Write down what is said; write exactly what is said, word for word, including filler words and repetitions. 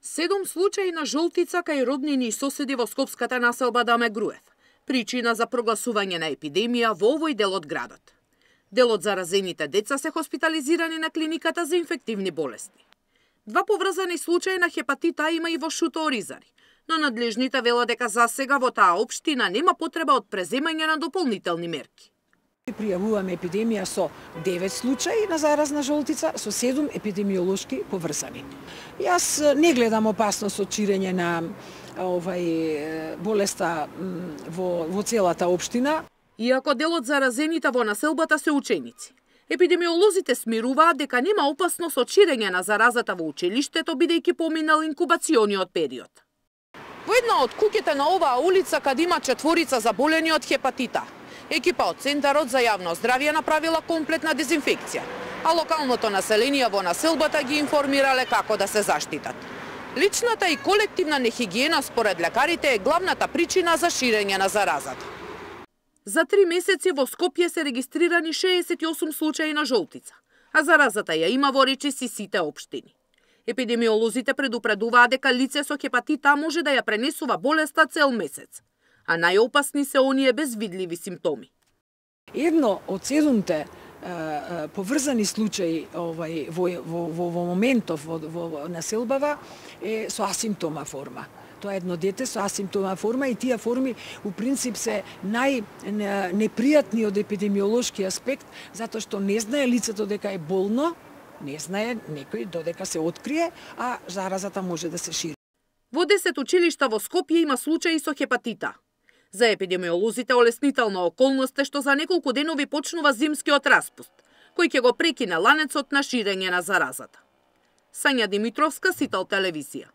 Седум случаи на жолтица кај роднини и соседи во скопската населба Даме Груев. Причина за прогласување на епидемија во овој дел од градот. Дел од заразените деца се хоспитализирани на клиниката за инфективни болести. Два поврзани случаи на хепатит А има и во Шуто Оризари, но надлежните велат дека засега во таа општина нема потреба од преземање на дополнителни мерки. Пријавуваме епидемија со девет случаи на заразна жолтица, со седум епидемиолошки поврзани. Јас не гледам опасност од ширење на овај болеста во, во целата општина. Иако дел од заразените во населбата се ученици, епидемиолозите смируваат дека нема опасност од ширење на заразата во училиштето, бидејќи поминал инкубациониот период. Во една од куќите на оваа улица, каде има четворица заболени од хепатит А, екипа од Центарот за јавно здравје направила комплетна дезинфекција, а локалното население во населбата ги информирале како да се заштитат. Личната и колективна нехигиена според лекарите е главната причина за ширење на заразата. За три месеци во Скопје се регистрирани шеесет и осум случаи на жолтица, а заразата ја има во речиси сите општини. Епидемиолозите предупредуваат дека лице со хепатит А може да ја пренесува болеста цел месец, а најопасни се оние без видливи симптоми. Едно од седумте поврзани случаи овај, во, во, во, во моментов во, во населбава е со асимптома форма. Тоа е едно дете со асимптома форма и тие форми у принцип се најнепријатни од епидемиолошки аспект, затоа што не знае лицето дека е болно, не знае некој додека се открие, а заразата може да се шири. Во десет училишта во Скопје има случаи со хепатит А. За епидемиолозите олеснителна околност е што за неколку денови почнува зимскиот распуст, кој ќе го прекине ланецот на ширење на заразата. Сања Димитровска, Сител телевизија.